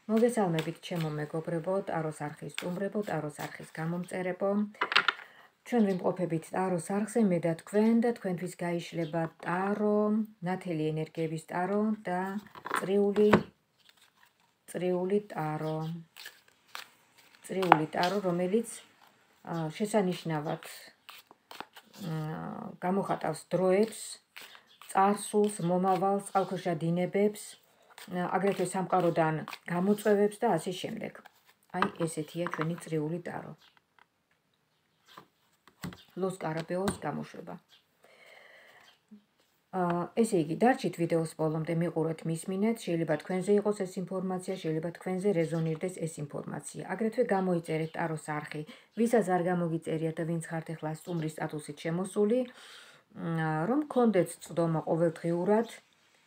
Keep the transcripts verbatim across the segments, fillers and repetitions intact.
მოგესალმებით ჩემო მეგობრებო, ტაროს არხის სტუმრებო, ტაროს არხის გამომწერებო. ჩვენ ვიმყოფებით ტაროს არხზე, მე და თქვენ და თქვენთვის გაიშლება ტარო, ნათელი ენერგიების ტარო და წრიული წრიული ტარო. წრიული ტარო, რომელიც შესანიშნავად გამოხატავს დროებს, წარსულს, მომავალს, წყალქვეშა დინებებს, აგრეთვე სამყაროდან გამოწვევებს და ასე შემდეგ. აი, ესეთია ჩვენი წრიული ტარო. ლოს კარაბეოს გამოშვება. ესე იგი, დარჩით ვიდეოს ბოლომდე მიყურეთ, მისმინეთ, შეიძლება თქვენზე იყოს ეს ინფორმაცია, შეიძლება თქვენზე რეზონირდეს ეს ინფორმაცია. აგრეთვე გამოიწერეთ ტაროს არხი, ვისაც არ გამოგიწერიათ და ვინც ხართ ახლა სტუმრის სტატუსით შემოსული, რომ გქონდეთ წვდომა ყოველდღიურად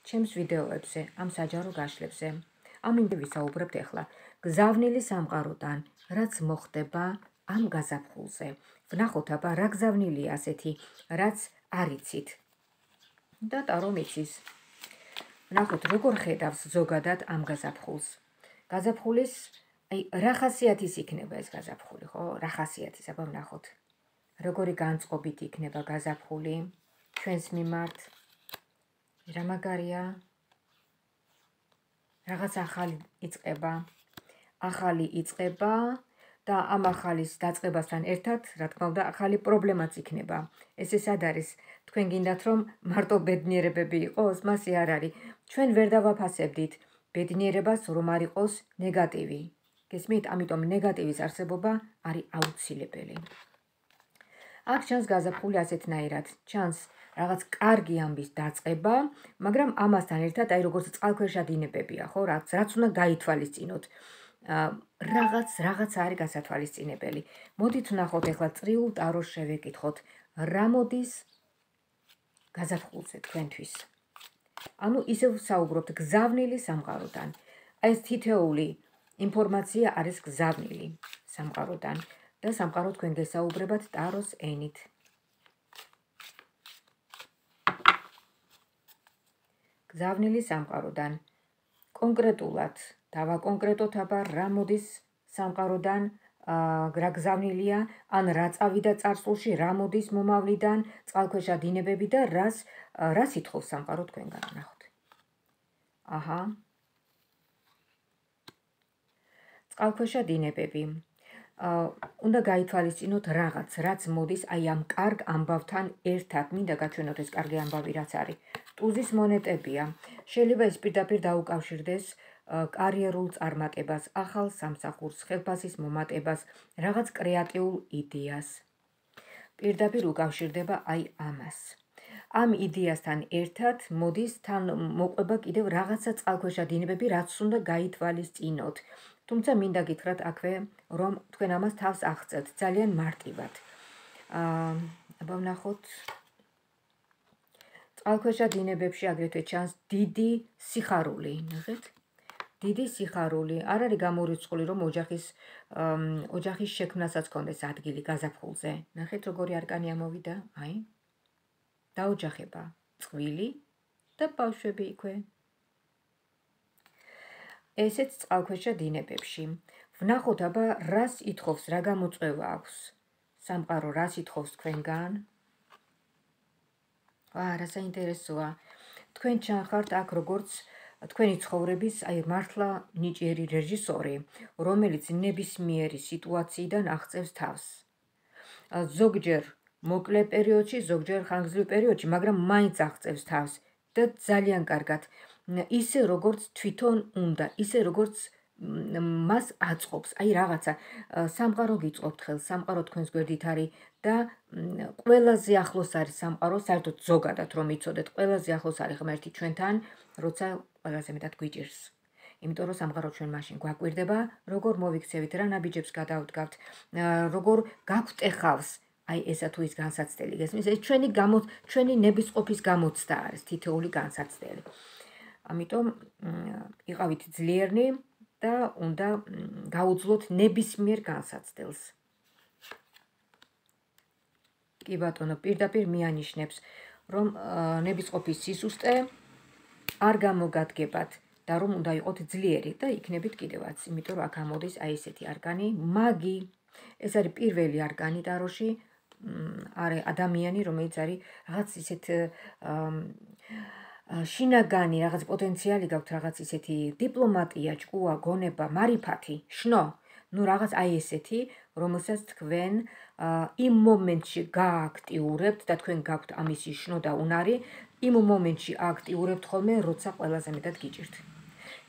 ჩემს ვიდეოებზე, ამ საჯარო გაშლებზე. ამ იმდე ვისაუბრებთ ახლა. გზავნილი სამყაროდან, რაც მოხდება ამ გაზაფხულზე. ვნახოთ აბა რა გზავნილია ასეთი, რაც არ იცით. და ტარო მიცის. ვნახოთ როგორ ხედავს ზოგადად ამ გაზაფხულს. გაზაფხულის, აი, რა ხასიათის იქნება ეს გაზაფხული, ხო? რა ხასიათის, აბა ვნახოთ. როგორი განწყობით იქნება გაზაფხული ჩვენს მიმართ. რა მაგარია? რაღაც ახალი იწყება. ახალი იწყება და ამ ახალის დაწყებასთან ერთად, რა თქმა უნდა, ახალი პრობლემაც იქნება. ეს სად არის? თქვენ გინდათ რომ მარტო ბედნიერებები იყოს, მასე არ არის. ჩვენ ვერ დავაფასებდით ბედნიერებას, რომ არ იყოს ნეგატივი. გესმით? ამიტომ ნეგატივის არსებობა არის აუცილებელი. აქ ჩანს გაზაფხული ასეთნაირად, ჩანს რაღაც კარგი ამბის დაწყება, მაგრამ ამასთან ერთად, აი როგორც წყალქვეშა დინებებია, ხო, რაც რაც უნდა გაითვალისწინოთ. რაღაც რაღაც არის გასათვალისწინებელი. მოდით ვნახოთ ახლა წრიულ ტაროს შევეკითხოთ, რა მოდის გაზაფხულზე თქვენთვის. ანუ ისევ საუბრობთ გზავნილი სამყაროდან. აი ეს თითეული ინფორმაცია არის გზავნილი სამყაროდან და სამყარო თქვენ გესაუბრებათ ტაროს ენით. გზავნილი სამყაროდან. კონკრეტულად დავაკონკრეტოთ აბა რა მოდის სამყაროდან, რა გზავნილია, ან რა წავიდა წარსულში, რა მოდის მომავლიდან, წყალქვეშა დინებები და რას რას ითხოვს სამყარო თქვენგან. ნახოთ. აჰა. წყალქვეშა დინებები. უნდა გაითვალისწინოთ რაღაც, რაც მოდის აი ამ კარგ ამბავთან ერთად. მინდა გაჩვენოთ ეს კარგი ამბავი რაც არის. ტუზის მონეტებია. შეიძლება ეს პირდაპირ დაუკავშირდეს კარიერულ წარმატებას, ახალ სამსახურს, ხელფასის მომატებას, რაღაც კრეატიულ იდეას. პირდაპირ უკავშირდება აი ამას. ამ იდეასთან ერთად მოდის თან მოყვება კიდევ რაღაცა წყალქვეშა დინებები, რაც უნდა გაითვალისწინოთ. თუმცა მინდა გითხრათ აქვე, რომ თქვენ ამას თავს აღწევთ ძალიან მარტივად. აბა ვნახოთ. წყალქვეშა დინებებში აგრეთვე ჩანს დიდი სიხარული, ნახეთ? დიდი სიხარული. არ არის გამორიცხული, რომ ოჯახის ოჯახის შექმნასაც კონდეს ადგილი გაზაფხულზე. ნახეთ როგორი არკანი ამოვიდა, აი. დაოჯახება, წყვილი და ბავშვები იქვე. ესეც წყალქვეშა დინებებში. ვნახოთ აბა რას ითხოვს, რა გამოწვევა აქვს სამყარო, რას ითხოვს თქვენგან. აა, რა საინტერესოა. თქვენ ჩანხართ აქ როგორც თქვენი ცხოვრების აი მართლა ნიჭიერი რეჟისორი, რომელიც ნებისმიერი სიტუაციიდან აღწევს თავს. ზოგჯერ მოკლე პერიოდში, ზოგჯერ ხანგრძლივ პერიოდში, მაგრამ მაინც აღწევს თავს და ძალიან კარგად. ისე როგორც თვითონ უნდა, ისე როგორც მას აწყობს. აი რაღაცა სამყარო გიწყობთ ხელს, სამყარო თქვენს გვერდით არის და ყველაზე ახლოს არის სამყარო, საერთოდ ზოგადად რომ იცოდეთ, ყველაზე ახლოს არის ღმერთი ჩვენთან, როცა ყველაზე მეტად გვიჭირს. იმიტომ რომ სამყარო ჩვენ მაშინ გვაკვირდება, როგორ მოვიქცევით, რა ნაბიჯებს გადავდგავთ, როგორ გაგვტეხავს აი ესა თუ ის განსაცდელი. გესმის? ეს ჩვენი ჩვენი ნებისყოფის გამოცდა არის, თითოეული განსაცდელი. ამიტომ იყავით ძლიერნი და უნდა გაუძლოთ ნებისმიერ განსაცდელს. კი ბატონო, პირდაპირ მიანიშნებს, რომ ნებისყოფის სისუსტე არ გამოგადგებათ და რომ უნდა იყოთ ძლიერი და იქნებით კიდევაც, იმიტომ რომ აქ ამოდის აი ესეთი არგანი, მაგი. ეს არის პირველი არგანი ტაროში, არის ადამიანი, რომელიც არის რაღაც ისეთ შინაგანი, რაღაც პოტენციალი გაქვთ, რაღაც ისეთი დიპლომატია, ჭკუა, გონება, მარიფათი, შნო. ნუ რაღაც აი ესეთი, რომელსაც თქვენ იმ მომენტში გააქტიურებთ და თქვენ გაქვთ ამისი შნო და უნარი, იმ მომენტში აქტიურებთ ხოლმე, როცა ყველაზე მეტად გიჭირთ.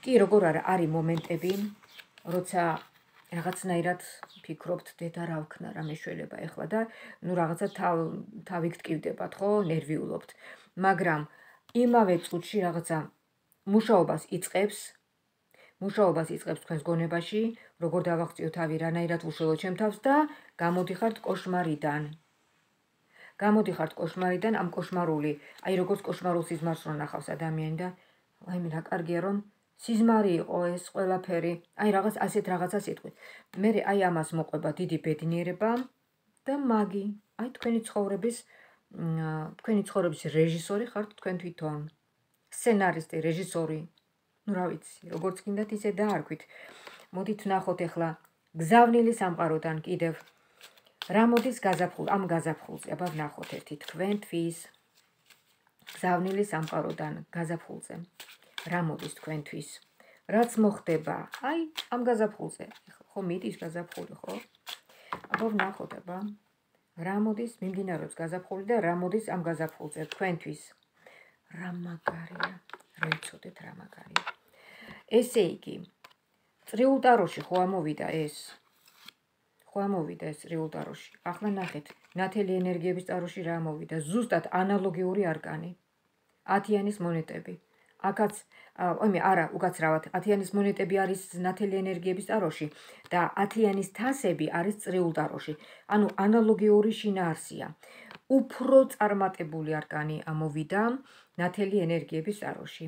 კი, როგორ არა, არის მომენტები, როცა რაღაცნაირად ფიქრობთ, დედა რა ვქნა, რა მეშველება ეხლა და ნუ რაღაცა თავი გტკივდებათ, ხო, ნერვიულობთ. მაგრამ იმავე წუთში რაღაცა მუშაობას იწყებს, მუშაობას იწყებს თქვენს გონებაში, როგორ დავაღწიო თავი, რანაირად ვუშველო ჩემ თავს და გამოდიხართ კოშმარიდან. გამოდიხართ კოშმარიდან, ამ კოშმარული, აი როგორც კოშმარულ სიზმარს რო ნახავს ადამიანი და აი მე რა კარგია რომ სიზმარი იყო ეს ყველაფერი, აი რაღაც ასეთ რაღაცას იტყვით. მე აი ამას მოყვება დიდი ბედნიერება და მაგი, აი თქვენი ცხოვრების თქვენი ცხოვრების რეჟისორი ხართ თქვენ თვითონ. სცენარისტი, რეჟისორი. ნუ რა ვიცი, როგორც გინდათ ისე დაარქვით. მოდით ვნახოთ ახლა გზავნილი სამყაროდან კიდევ რა მოდის გაზაფხულ, ამ გაზაფხულზე, აბა ვნახოთ ერთი თქვენთვის. გზავნილი სამყაროდან გაზაფხულზე. რა მოდის თქვენთვის? რაც მოხდება, აი, ამ გაზაფხულზე. ხო მიდის გაზაფხული, ხო? აბა ვნახოთ, აბა. რა მოდის, მიმდინარეობს გაზაფხული და რა მოდის ამ გაზაფხულზე თქვენთვის? რა მაგარია, რა იცოდეთ რა მაგარია. ესე იგი, წრიულ ტაროში ხო ამოვიდა ეს? ხო ამოვიდა ეს წრიულ ტაროში. ახლა ნახეთ, ნათელი ენერგიების ტაროში რა ამოვიდა? ზუსტად ანალოგიური არკანი. ათიანის მონეტები. აქაც, ომი, არა, უკაცრავად, ათიანის მონეტები არის ნათელი ენერგიების ტაროში და ათიანის თასები არის წრიულ ტაროში. ანუ ანალოგიური შინაარსია. უფრო წარმატებული არკანი ამოვიდა ნათელი ენერგიების ტაროში.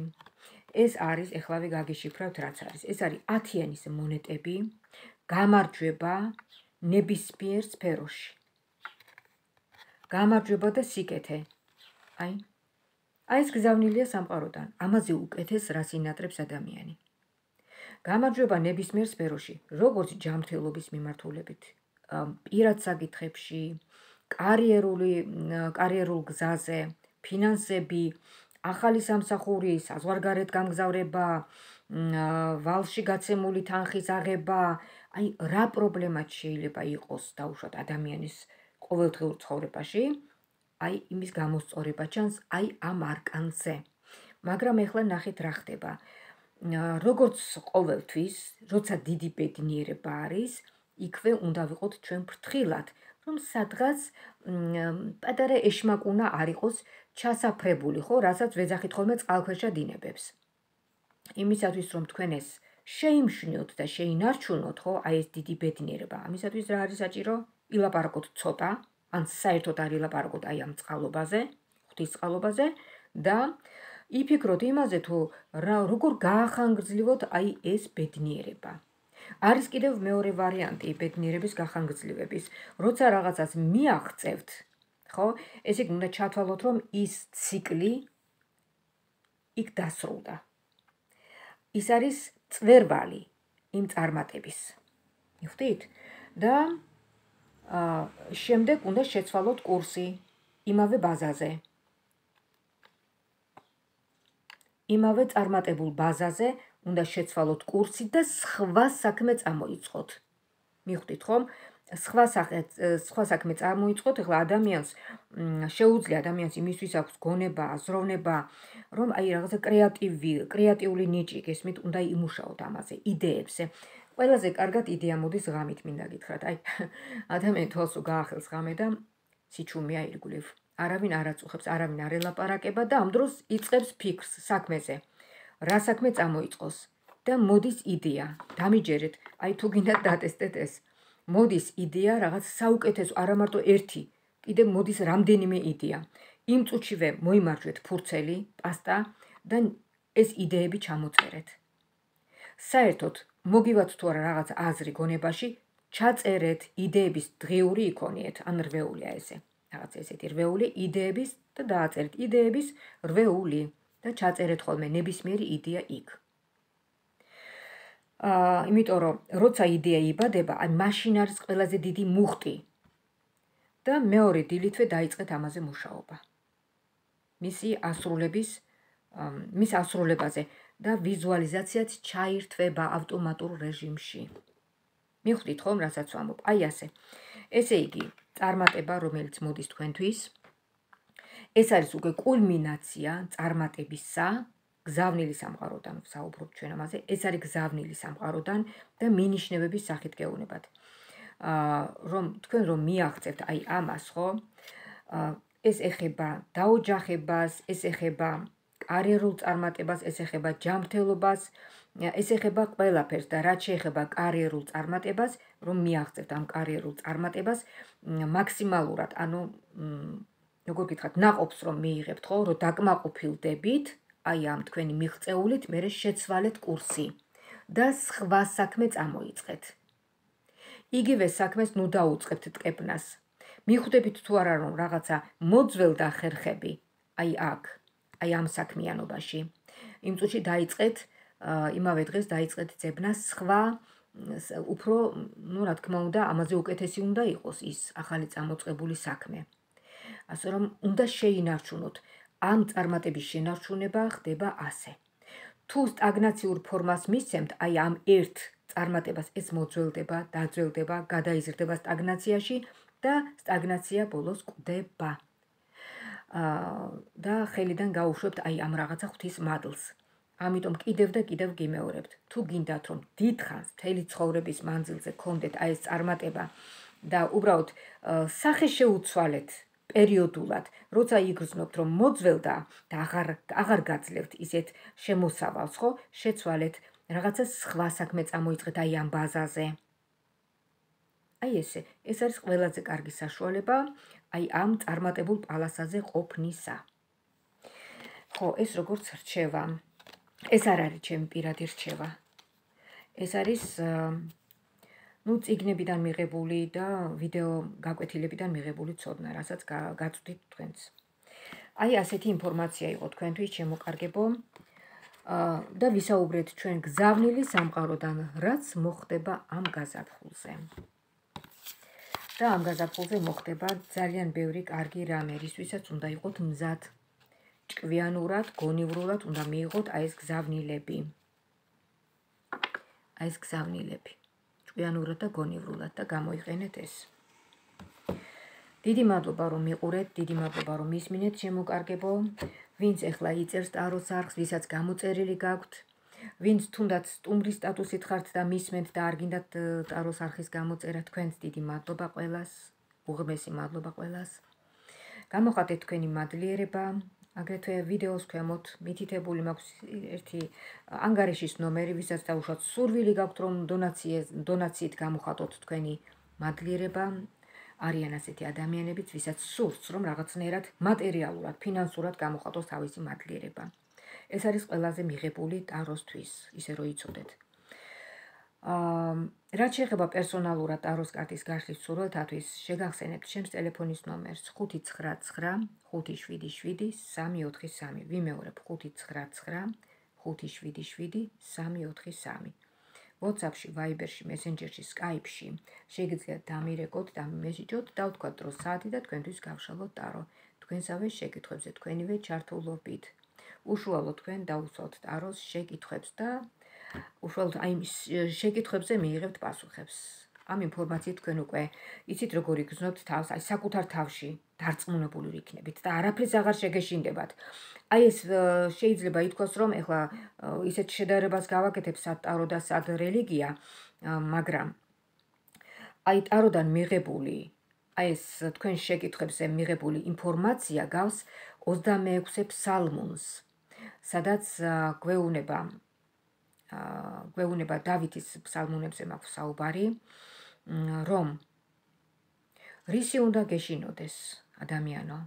ეს არის, ეხლავე გაგიშიფრავთ რაც არის. ეს არის ათიანის მონეტები, გამარჯვება ნებისმიერ სფეროში. გამარჯვება და სიკეთე. აი აი ეს გზავნილია სამყაროდან. ამაზე უკეთეს რას ინატრებს ადამიანი. გამარჯვება ნებისმიერ სფეროში, როგორც ჯანმრთელობის მიმართულებით, პირად საკითხებში, კარიერული კარიერულ გზაზე, ფინანსები, ახალი სამსახური, საზღვარგარეთ გამგზავრება, ვალში გაცემული თანხის აღება, აი რა პრობლემაც შეიძლება იყოს დაუშვათ ადამიანის ყოველდღიურ ცხოვრებაში, აი იმის გამოსწორება ჩანს აი ამ არკანზე. მაგრამ ეხლა ნახეთ რა ხდება. როგორც ყოველთვის, როცა დიდი ბედნიერება არის, იქვე უნდა ვიყოთ ჩვენ ფრთხილად, რომ სადღაც პატარა ეშმაკუნა არ იყოს ჩასაფრებული, ხო, რასაც ვეძახით ხოლმე წყალქვეშა დინებებს. იმისათვის რომ თქვენ ეს შეიმშნიოთ და შეინარჩუნოთ, ხო, აი ეს დიდი ბედნიერება. ამისათვის რა არის საჭირო? ილაპარაკოთ ცოტა, ან საერთოდ არ ილაპარაკოთ აი ამ წყალობაზე, ღვთის წყალობაზე და იფიქროთ იმაზე, თუ როგორ გაახანგრძლივოთ აი ეს ბედნიერება. არის კიდევ მეორე ვარიანტი ბედნიერების გახანგრძლივების. როცა რაღაცას მიაღწევთ, ხო, ესე იგი უნდა ჩათვალოთ, რომ ის ციკლი იქ დასრულდა. ის არის წვერვალი იმ წარმატების. მიხვდით? და შემდეგ უნდა შეცვალოთ კურსი იმავე ბაზაზე. იმავე წარმატებულ ბაზაზე უნდა შეცვალოთ კურსი და სხვა საქმე წამოიწყოთ. მიხვდით ხომ? სხვა სხვა საქმე წამოიწყოთ, ეხლა ადამიანს შეუძლია ადამიანს იმისთვის აქვს გონება, აზროვნება, რომ აი რაღაცა კრეატივი, კრეატიული ნიჭი გესმით, უნდა იმუშაოთ ამაზე, იდეებზე. ყველაზე კარგად იდეა მოდის ღამით, მინდა გითხრათ. აი, ადამიანი თვალს გაახელს ღამე და სიჩუმეა ირგვლივ. არავინ არ აწუხებს, არავინ არ ელაპარაკება და ამ დროს იწყებს ფიქრს საქმეზე. რა საქმე წამოიწყოს და მოდის იდეა. დამიჯერეთ, აი თუ გინდათ დატესტეთ ეს. მოდის იდეა რაღაც საუკეთესო, არა მარტო ერთი, კიდევ მოდის რამდენიმე იდეა. იმ წუთშივე მოიმარჯვეთ ფურცელი, პასტა და ეს იდეები ჩამოწერეთ. საერთოდ მოგივათ თუ არა რაღაც აზრი გონებაში, ჩაწერეთ იდეების დღიური იქონიეთ, ან რვეულია ესე. რაღაც ესეთი რვეული იდეების და დააწერეთ იდეების რვეული და ჩაწერეთ ხოლმე ნებისმიერი იდეა იქ. აა იმიტომ რომ როცა იდეა იბადება, აი მაშინ არის ყველაზე დიდი მუხტი და მეორე დილითვე დაიწყეთ ამაზე მუშაობა. მისი ასრულების მის ასრულებაზე და ვიზუალიზაციაც ჩაირთვება ავტომატურ რეჟიმში. მივხვდით ხომ, რასაც ვამბობ? აი ასე. ესე იგი, წარმატება, რომელიც მოდის თქვენთვის, ეს არის უკვე კულმინაცია წარმატებისა, გზავნილი სამყაროდან ვსაუბრობ ჩვენ ამაზე, ეს არის გზავნილი სამყაროდან და მინიშნებების სახით გეუბნებათ. აა რომ თქვენ რომ მიაღწევთ აი ამას, ხო? აა ეს ეხება დაოჯახებას, ეს ეხება კარიერულ წარმატებას, ეს ეხება ჯანმრთელობას, ეს ეხება ყველაფერს და რაც შეეხება კარიერულ წარმატებას, რომ მიაღწევთ ამ კარიერულ წარმატებას მაქსიმალურად, ანუ როგორ გითხრათ, ნაყოფს რომ მიიღებთ, ხო, რომ დაკმაყოფილდებით აი ამ თქვენი მიღწეულით, მერე შეცვალეთ კურსი და სხვა საქმე წამოიწყეთ. იგივე საქმეს ნუ დაუწყებთ ტკეპნას. მიხვდებით თუ არა რომ რაღაცა მოძველდა ხერხები აი აქ, აი ამ საქმიანობაში. იმ წუთში დაიწყეთ, იმავე დღეს დაიწყეთ ძებნა სხვა უფრო, ну, რა თქმა უნდა, ამაზე უკეთესი უნდა იყოს ის ახალი წამოწყებული საქმე. ასე რომ უნდა შეინარჩუნოთ. ამ წარმატების შენარჩუნება ხდება ასე. თუ სტაგნაციურ ფორმას მისცემთ, აი ამ ერთ წარმატებას ეს მოძველდება, დაძველდება, გადაიზრდება სტაგნაციაში და სტაგნაცია ბოლოს კვდება. აა და ხელიდან გაუშვებთ აი ამ რაღაცა ღვთის მადლს. ამიტომ კიდევ და კიდევ გიმეორებთ. თუ გინდათ რომ დიდხანს მთელი ცხოვრების მანძილზე გქონდეთ აი ეს წარმატება და უბრალოდ სახე შეუცვალეთ პერიოდულად, როცა იგრძნობთ რომ მოძველდა და აღარ აღარ გაძლევთ ისეთ შემოსავალს, ხო? შეცვალეთ რაღაცა სხვა საქმე წამოიწყეთ აი ამ ბაზაზე. აი ესე, ეს არის ყველაზე კარგი საშუალება აი ამ წარმატებულ პალასაზე ყოფნისა. ხო, ეს როგორც რჩევა. ეს არ არის ჩემი პირადი რჩევა. ეს არის ну წიგნებიდან მიღებული და ვიდეო გაკვეთილებიდან მიღებული ცოდნა, რასაც გაწვდით თქვენც. აი ასეთი ინფორმაცია იყო თქვენთვის, შემოკარგებო. და ვისაუბრეთ ჩვენ გზავნილი სამყაროდან, რაც მოხდება ამ გაზაფხულზე. და ამ გაზაფხულზე მოხდება ძალიან ბევრი კარგი რამე, რისთვისაც უნდა იყოთ მზად. ჭკვიანურად, გონივრულად უნდა მიიღოთ აი ეს გზავნილები. აი ეს გზავნილები. ჭკვიანურად და გონივრულად და გამოიყენეთ ეს. დიდი მადლობა რომ მიყურეთ, დიდი მადლობა რომ მისმინეთ, შემოკარგებო. ვინც ეხლა იწერს ტაროს არხს, ვისაც გამოწერილი გაქვთ, ვინც თუნდაც სტუმრის სტატუსით ხართ და მისმენთ და არ გინდათ ტაროს არხის გამოწერა, თქვენს დიდი მადლობა ყველას, უღრმესი მადლობა ყველას. გამოხატეთ თქვენი მადლიერება, აგრეთვე ვიდეოს ქვემოთ მითითებული მაქვს ერთი ანგარიშის ნომერი, ვისაც დაუშვათ სურვილი გაქვთ რომ დონაციით გამოხატოთ თქვენი მადლიერება. არიან ასეთი ადამიანებიც, ვისაც სურს რომ რაღაცნაირად მატერიალურად, ფინანსურად გამოხატოს თავისი მადლიერება. ეს არის ყველაზე მიღებული ტაროსთვის, ისე რომ იცოდეთ. აა რაც შეეხება პერსონალურად ტაროს კარტის გაშლის სურვილთათვის, შეგახსენებთ ჩემს ტელეფონის ნომერს ხუთი ცხრა ცხრა ხუთი შვიდი შვიდი სამი ოთხი სამი. ვიმეორებ ხუთი ცხრა ცხრა ხუთი შვიდი შვიდი სამი ოთხი სამი. WhatsApp-ში, Viber-ში, Messenger-ში, Skype-ში შეგიძლიათ დამირეკოთ და მესიჯოთ და ვთქვათ დრო საათი და თქვენთვის გავშალოთ ტარო. თქვენსავე შეკითხვებზე თქვენივე ჩართულობით. უშუალოდ თქვენ დაუსვათ ტაროს შეკითხვებს და უშუალოდ აი შეკითხვებზე მიიღებთ პასუხებს. ამ ინფორმაციით თქვენ უკვე იცით როგორ იგრძნობთ თავს, აი საკუთარ თავში დარწმუნებული იქნებით და არაფერს აღარ შეგეშინდებათ. აი ეს შეიძლება ითქვას რომ ეხლა ისეთ შედარებას გავაკეთებ სად ტარო და სად რელიგია, მაგრამ აი ტაროდან მიღებული, აი ეს თქვენ შეკითხვებზე მიღებული ინფორმაცია გავს ოცდამეექვსე ფსალმუნს, სადაც გვეუბნება გვეუბნება დავითის ფსალმუნებზე მაქვს საუბარი, რომ რისი უნდა გეშინოდეს ადამიანო.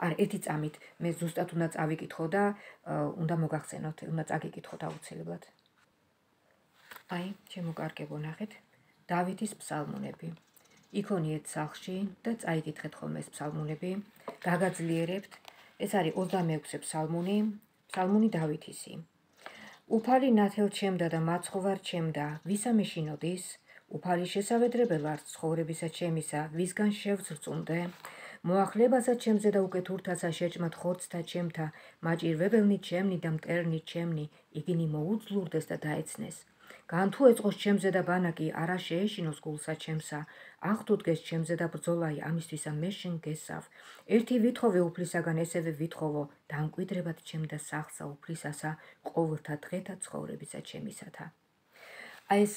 არ ერთი წამით მე ზუსტად უნდა წავიკითხო და უნდა მოგახსენოთ, უნდა წაგიკითხოთ აუცილებლად. აი, შემოკარგებო ნახეთ, დავითის ფსალმუნები. იქონიეთ სახლში და წაიკითხეთ ხოლმე ეს ფსალმუნები, გაგაძლიერებთ. ეს არის ოცდამეექვსე ფსალმუნი, ფსალმუნი დავითისი. უფალი ნათელ ჩემდა და მაცხოვარ ჩემდა, ვისა მეშინოდის? უფალი შესავედრებელ არც ცხოვრებისა ჩემისა, ვისგან შევძრწუნდე? მოახლებასა ჩემზე და უკეთურთასა შეჭმად ხორცთა ჩემთა, მაჭირვებელნი ჩემნი და მტერნი ჩემნი, იგინი მოუძლურდეს და დაეცნეს. განთუ ეწყოს ჩემზე და ბანაკი, არა შეეშინოს გულსა ჩემსა, ახ თუ დგეს ჩემზე და ბრძოლაი, ამისთვისა მე შენ გესავ. ერთი ვითხოვე უფლისაგან, ესევე ვითხოვო, დამკვიდრებად ჩემ და სახლსა უფლისასა, ყოველთა დღეთა ცხოვრებისა ჩემისათა. აი ეს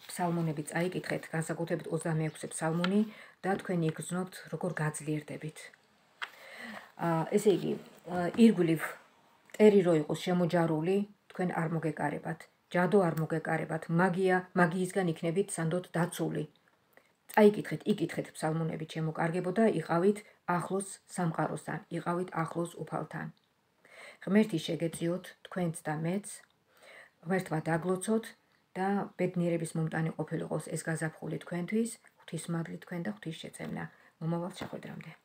ფსალმუნები წაიკითხეთ, განსაკუთრებით ოცდამეექვსე ფსალმუნი და თქვენი იგრძნობთ, როგორ გაძლიერდებით. ესე იგი, ირგვლივ ტერი რო იყოს შემოჯარული, თქვენ არ მოგეკარებათ, ჯადო არ მოგეკარებათ, მაგია, მაგიისგან იქნებით სანდოდ დაცული. წაიკითხეთ, იკითხეთ ფსალმუნები ჩემო კარგებო და იყავით ახლოს სამყაროსთან, იყავით ახლოს უფალთან. ღმერთი შეგეწიოთ თქვენც და მეც, ღმერთმა დაგლოცოთ და ბედნიერების მომტანი ყოფილიყოს ეს გაზაფხული თქვენთვის, ღვთისმადლი თქვენ და ღვთის შეწევნა. მომავალ შეხვედრამდე.